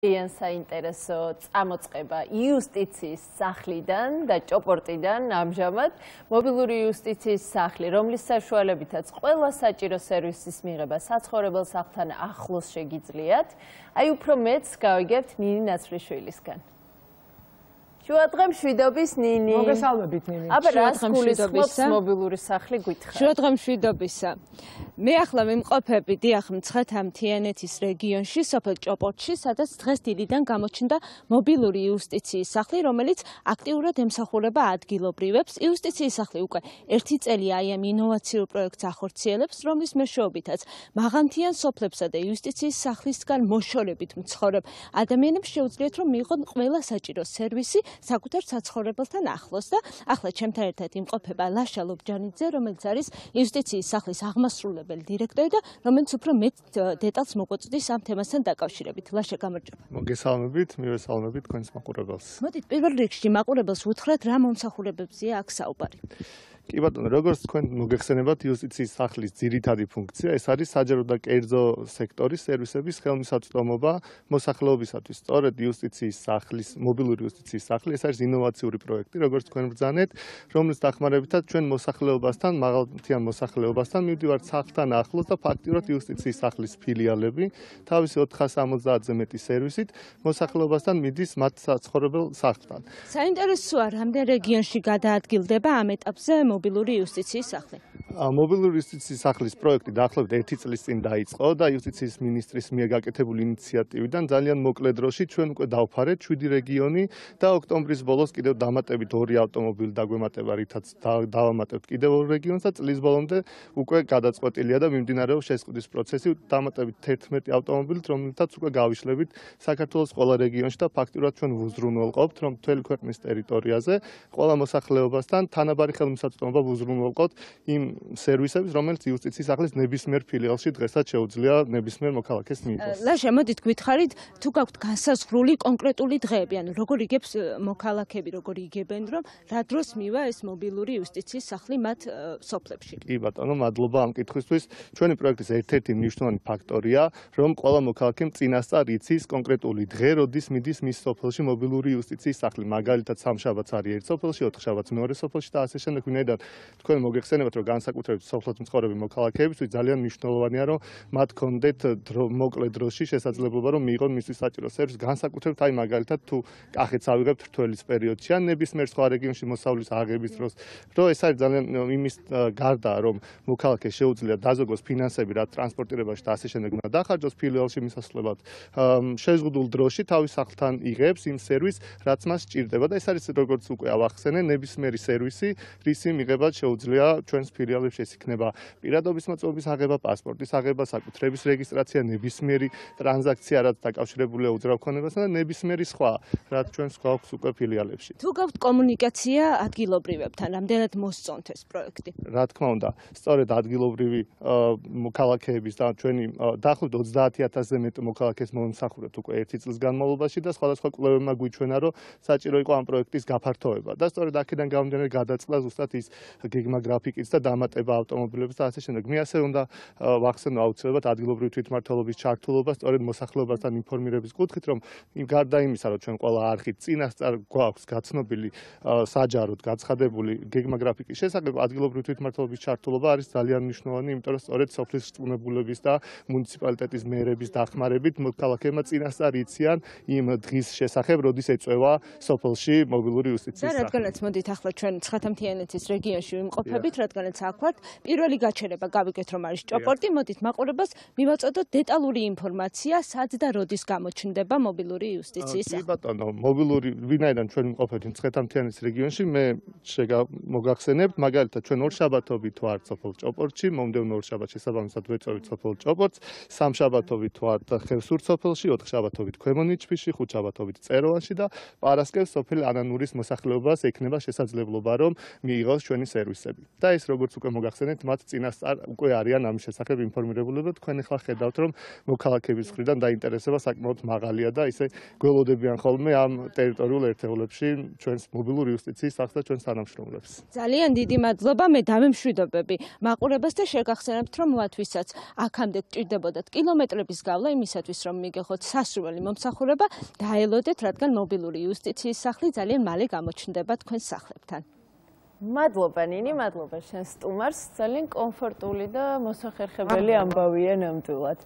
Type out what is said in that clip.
ძალიან საინტერესო წამოწყება იუსტიციის სახლიდან და ჭოპორტიდან ამჟამად მობილური იუსტიციის სახლი, რომლის საშუალებითაც ყველა საჭირო სერვისის მიღება საცხოვრებელ სახლთან ახლოს შეგიძლიათ. Აი უფრო მეც გავიგებთ ნინი ნაცვლიშვილისგან. შუადღე მშვიდობის ნინი. მოგესალმებით ნინი. აბა რას გულისხმობს მობილური სახლი გითხრათ. შუადღე მშვიდობისა. მე ახლა ვიმყოფები დიახ მცხეთა-მთიანეთის რეგიონში, სოფელ ჭოპორტში, სადაც დღეს დილიდან გამოჩნდა მობილური იუსტიციის სახლი, რომელიც აქტიურად ემსახურება ადგილობრივებს. იუსტიციის სახლი უკვე 1 წელია აი ამ ინოვაციურ პროექტს ახორციელებს, რომლის მეშვეობითაც მაღალმთიან სოფლებსა და იუსტიციის სახლისგან მოშორებით მცხოვრებ ადამიანებს შეუძლიათ რომ მიიღონ ყველა საჭირო სერვისი საკუთარ საცხოვრებელთან ახლოს და ახლა ჩემთან ერთად იმყოფება ლაშა ლობჯანიძე, რომელიც არის იუსტიციის სახლის აღმასრულებელი დირექტორი და რომელიც უფრო მეტ დეტალს მოგვაწვდის ამ თემასთან დაკავშირებით. ლაშა, გამარჯობა. მოგესალმებით, მივესალმებით თქვენს მაყურებელს. მოდით პირველ რიგში მაყურებელს უთხრათ რა მომსახურებებზეა აქ საუბარი. კი ბატონო, როგორც თქვენ მოგეხსენებათ, იუსტიციის სახლის ძირითადი ფუნქცია ეს არის საჯარო და კერძო სექტორის სერვისების ხელმისაწვდომობა მოსახლეობისათვის. სწორედ იუსტიციის სახლის, მობილური იუსტიციის სახლი, ეს არის ინოვაციური პროექტი, როგორც თქვენ ბრძანეთ, რომლის დახმარებითაც ჩვენ მოსახლეობასთან, მაღალმთიან მოსახლეობასთან მივდივართ სახლთან ახლოს და ფაქტიურად იუსტიციის სახლის ფილიალები, თავისი 470-ზე მეტი სერვისით მოსახლეობასთან მიდის მათ საცხოვრებელ სახლთან. საინტერესოა, რამდენ რეგიონში გადაადგილდება ამ ეტაპზე მობილური იუსტიციის სახლი. მობილური იუსტიციის სახლის პროექტი დაახლოებით 1 წლის წინ დაიწყო და იუსტიციის მინისტრის მიერ გაკეთებული ინიციატივიდან ძალიან მოკლე დროში ჩვენ უკვე დავფარეთ 7 რეგიონი და ოქტომბრის ბოლოს კიდევ დამატებით 2 ავტომობილი დაგვემატება, რითაც დავამატებთ კიდევ 2 რეგიონს და წლის ბოლომდე უკვე გადაწყვეტილია და მიმდინარეობს შესყიდვის პროცესი დამატებით 11 ავტომობილით, რომელთაც უკვე გავიშლებით საქართველოს ყველა რეგიონში და ფაქტიურად ჩვენ ვუზრუნველყოფთ, რომ მთელი ქვეყნის ტერიტორიაზე ყველა მოსახლეობასთან თანაბარი ხელმისაწვდომობა ვუზრუნველყოფთ იმ სერვისებს, რომელიც იუსტიციის სახლის ნებისმიერ ფილიალში დღესაც შეუძლია ნებისმიერ მოქალაქეს მიიღოს. ლაშა, მოდით გითხარით, თუ გაქვთ განსაზღვრული კონკრეტული დღეები, ანუ როგორ იგებს მოქალაქეები, როგორ იგებენ, რომ რა დროს მივა ეს მობილური იუსტიციის სახლი მათ სოფლებში. კი ბატონო, მადლობა ამ კითხვისთვის. ჩვენი პროექტის ერთ-ერთი მნიშვნელოვანი ფაქტორია, რომ ყველა მოქალაქემ წინასწარ იცის კონკრეტული დღე, როდის მიდის მის სოფელში მობილური იუსტიციის სახლი. მაგალითად, სამშაბათს არის ერთ სოფელში, ოთხშაბათს მეორე სოფელში და ასე შემდეგ. ვინაიდან თქვენ მოგეხსენებათ, რომ განსაკუთრებით სოფლად მცხოვრები მოქალაქეებისთვის ძალიან მნიშვნელოვანია, რომ მათ კონდეთ მოკლე დროში შესაძლებლობა, რომ მიიღონ მისთვის საჭირო სერვისი, განსაკუთრებით აი მაგალითად თუ კახეთს ავიღებთ რთველის პერიოდში ან ნებისმიერ სხვა რეგიონში მოსავლის აღების დროს, რომ ეს არის ძალიან იმის გარდა, რომ მოქალაქეს შეუძლია დაზოგოს ფინანსები, რაც ტრანსპორტირებაში და ასე შემდეგ უნდა დახარჯოს ფილიალში მისასვლელად, შეზღუდულ დროში თავის სახლთან იღებს იმ სერვისს, რაც მას სჭირდება და ეს არის როგორც უკვე ავახსენე, ნებისმიერი სერვისი, რისი მიღება შეუძლია ჩვენს ფილიალებში, ეს იქნება პირადობის მოწმობის აღება, პასპორტის აღება, საკუთრების რეგისტრაცია, ნებისმიერი ტრანზაქცია, რაც დაკავშირებულია უძრავქონებასთან და ნებისმიერი სხვა, რაც ჩვენს გვაქვს უკვე ფილიალებში. თუ გაქვთ კომუნიკაცია ადგილობრივებთან, რამდენად მოსწონთ ეს პროექტი? რა თქმა უნდა, სწორედ ადგილობრივი მოქალაქეების და ჩვენი დაახლოებით 30,000-ზე მეტ მოქალაქეს მომსახურებთ უკვე 1 წლის განმავლობაში და სხვადასხვა კვლევებმა გვიჩვენა, რომ საჭირო იყო ამ პროექტის გაფართოება და სწორედ აქედან გამომდინარე გადაწყდა ზუსტად ის გეგმა გრაფიკიც და დამატება ავტომობილების და ასე შემდეგ. მე ასე უნდა ვახსენო აუცილებლად ადგილობრივი თვითმმართველობის ჩართულობა სწორედ მოსახლეობასთან ინფორმირების კუთხით, რომ გარდა იმისა, რომ ჩვენ ყველა არხით წინასწარ გვაქვს გაცნობილი საჯაროდ გაცხადებული გეგმა გრაფიკის შესახებ, ადგილობრივი თვითმმართველობის ჩართულობა არის ძალიან მნიშვნელოვანი, იმიტომ რომ სწორედ სოფლის რწმუნებულების და მუნიციპალიტეტის მერების დახმარებით მოქალაქეებმა წინასწარ იციან იმ დღის შესახებ, როდის ეწევა სოფელში მობილური იუსტიციის სახლი. და რადგანაც მოდით ახლა ჩვენ მცხეთა-მთიანეთის რეგიონში ვიმყოფებით, რადგანაც აქ ვართ, პირველი გაჩერება გავიგეთ, რომ არის ჭოპორტი, მოდით მაყურებელს მივაწოდოთ დეტალური ინფორმაცია, სად და როდის გამოჩნდება მობილური იუსტიციის სახლი. კი ბატონო, მობილური ვინაიდან ჩვენ ვიმყოფებით მცხეთა-მთიანეთის რეგიონში, მე მოგახსენებთ, მაგალითად ჩვენ ორშაბათობით ვართ სოფელ ჭოპორტში, მომდევნო ორშაბათს შესაბამისად ვეწევით სოფელ ჭოპორტს, სამშაბათობით ვართ ხევსურთ სოფელში, ოთხშაბათობით ქვემო ნიჩბისში, ხუთშაბათობით წეროვანში და პარასკევს სოფელ ანანურის მოსახლეობას ექნება შესაძლებლობა, რომ მიიღოს ჩვენი სერვისები. და ეს როგორც უკვე მოგახსენეთ, მათ წინასწარ უკვე არიან ამის შესახებ ინფორმირებული და თქვენ ახლა ხედავთ, რომ მოქალაქეების მხრიდან დაინტერესება საკმაოდ მაღალია და ისე გველოდებიან ხოლმე ამ ტერიტორიულ ერთეულებში ჩვენს მობილური იუსტიციის სახლს და ჩვენს თანამშრომლებს. ძალიან დიდი მადლობა, მე დავემშვიდობები მაყურებელს და შეგახსენებთ, რომ მათ ვისაც აქამდე ჭირდებოდათ კილომეტრების გავლა იმისათვის, რომ მიგეხოთ სასურველი მომსახურება, დაელოდეთ, რადგან მობილური იუსტიციის სახლი ძალიან მალე გამოჩნდება თქვენს სახლებთან. მადლობა ნინი, მადლობა შენ სტუმარს, ძალიან კომფორტული და მოსახერხებელი ამბავია ნამდვილად.